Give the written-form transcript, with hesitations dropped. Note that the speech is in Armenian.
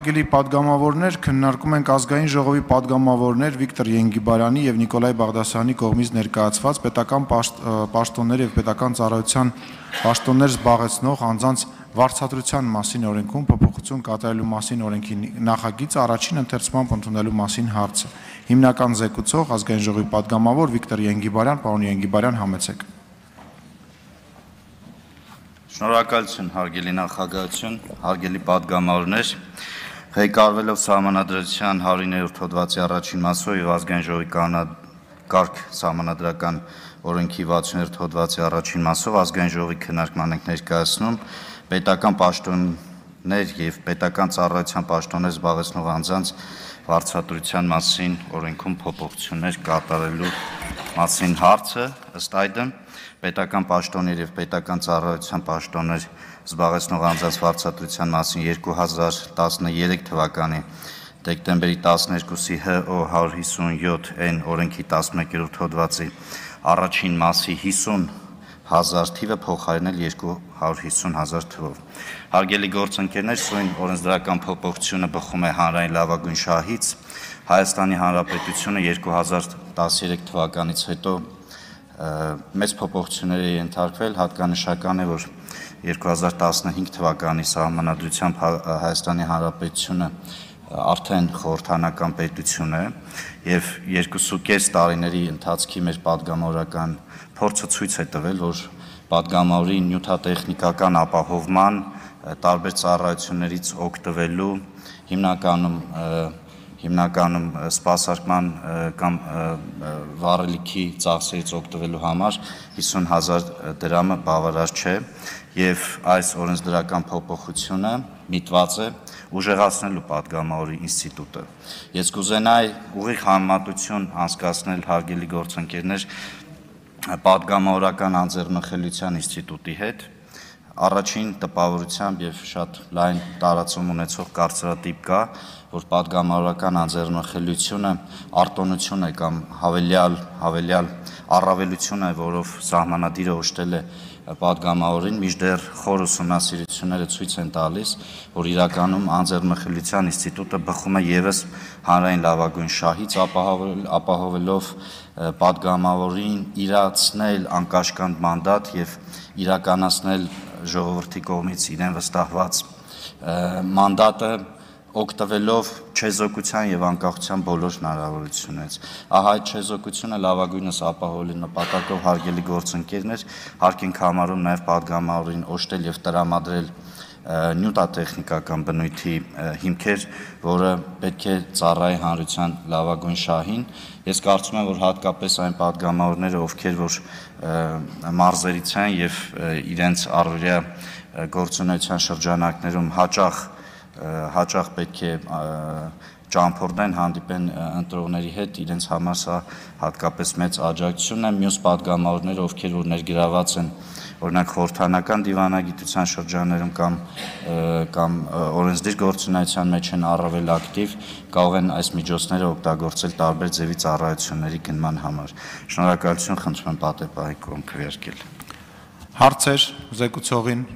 Հարգելի պատգամավորներ, քննարկում ենք ազգային ժողովի պատգամավորներ Վիկտոր Ենգիբարյանի եւ Նիկոլայ Բաղդասարյանի կողմից ներկայացված պետական պաշտոններ եւ պետական ծառայության պաշտոններ զբաղեցնող անձանց վարձատրության մասին օրենքում փոփոխություն կատարելու մասին օրենքի նախագիծը առաջին ընթերցմամբ ընդունելու մասին հարցը։ Հիմնական զեկուցող ազգային ժողովի պատգամավոր Վիկտոր Ենգիբարյան, պարոն Ենգիբարյան, համեցեք։ Շնորհակալություն, հարգելի նախագահություն, հարգելի պատգամավորներ, ղեկավարվելով Սահմանադրության 109-րդ հոդվածի առաջին մասով եւ ազգային ժողովի կանոնակարգ Սահմանադրական օրենքի 60-րդ հոդվածի առաջին մասով ազգային ժողովի քննարկման ենք ներկայացնում պետական պաշտոններ եւ պետական ծառայության պաշտոններ զբաղեցնող անձանց վարձատրության մասին օրենքում փոփոխություններ կատարելու մասին հարցը, ըստ այդմ պետական պաշտոններ եւ պետական ծառայության պաշտոններ զբաղեցնող անձանց վարձատրության մասին 2013 թվականի դեկտեմբերի 12-ի ՀՕ 157N օրենքի 11-րդ հոդվածի առաջին մասի 50,000 թիվը փոխարինել 250,000 թվով։ Հարգելի գործընկերներ, սույն օրենսդրական փոփոխությունը բխում է հանրային լավագույն շահից։ Հայաստանի Հանրապետությունը 2013 թվականից հետո մեծ փոփոխությունների է ենթարկվել, հատկանշական է, որ 2015 թվականի Սահմանադրությամբ Հայաստանի Հանրապետությունը արդեն խորհրդանական պետություն է եւ 2.5 տարիների ընթացքի մեր պատգամավորական փորձը ցույց է տվել, որ պատգամավորի նյութատեխնիկական ապահովման տարբեր ծառայություններից օգտվելու հիմնականում սպասարկման կամ վառելիքի ծախսերից օգտվելու համար 50,000 դրամը բավարար չէ եւ այս օրենսդրական փոփոխությունը միտված է ուժեղացնելու պատգամավորի ինստիտուտը։ Ես կուզենայի ուղիղ համեմատություն անցկացնել, հարգելի գործընկերներ, պատգամավորական անձեռնխելիության ինստիտուտի հետ։ Առաջին տպավորությամբ եւ շատ լայն տարածում ունեցող կարծրատիպ կա, որ պատգամավորական անձեռնխելիությունը արտոնություն է կամ հավելյալ առավելություն է, որով սահմանադիրը օժտել է պատգամավորին, մինչդեռ խոր ուսումնասիրությունները ցույց են տալիս, որ իրականում անձեռնխելիության ինստիտուտը բխում է եւս հանրային լավագույն շահից, ապահովելով պատգամավորին իրացնել անկաշկանդ մանդատ եւ իրականացնել ժողովրդի կողմից իրեն վստահված մանդատը օգտվելով չեզոքության եւ անկախության բոլոր հնարավորություններից։ Ահա այդ չեզոքությունը լավագույնս ապահովելու նպատակով, հարգելի գործընկերներ, հարկ ենք համարում նաեւ պատգամավորին օժտել եւ տրամադրել նյութատեխնիկական բնույթի հիմքեր, որը պետք է ծառայի հանրության լավագույն շահին։ Ես կարծում եմ, որ հատկապես այն պատգամավորները, ովքեր որ մարզերից են եւ իրենց առօրյա գործունեության շրջանակներում հաճախ պետք է ճամփորդեն, հանդիպեն ընտրողների հետ, իրենց համար սա հատկապես մեծ աջակցություն է։ Մյուս պատգամավորները, ովքեր որ ներգրաված են օրինակ խորհրդանական դիվանագիտության շրջաններում կամ օրենսդիր գործունեության մեջ են առավել ակտիվ, կարող են այս միջոցները օգտագործել տարբեր ձևի ծառայությունների գնման համար։ Շնորհակալություն, խնդրում եմ պատեպահի կողմ քվեարկել։ Հարցեր զեկուցողին։